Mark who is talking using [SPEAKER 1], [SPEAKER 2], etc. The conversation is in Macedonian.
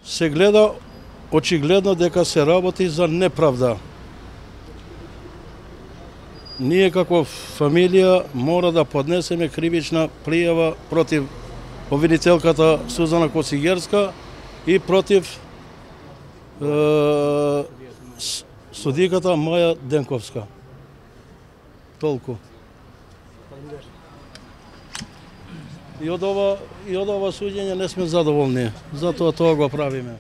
[SPEAKER 1] се гледа очигледно дека се работи за неправда. Ние како фамилија мора да поднесеме кривична пријава против обвинителката Сузана Косигерска и против судиката Маја Денковска. Толку. И од ова суѓење не сме задоволни, затоа тоа го правиме.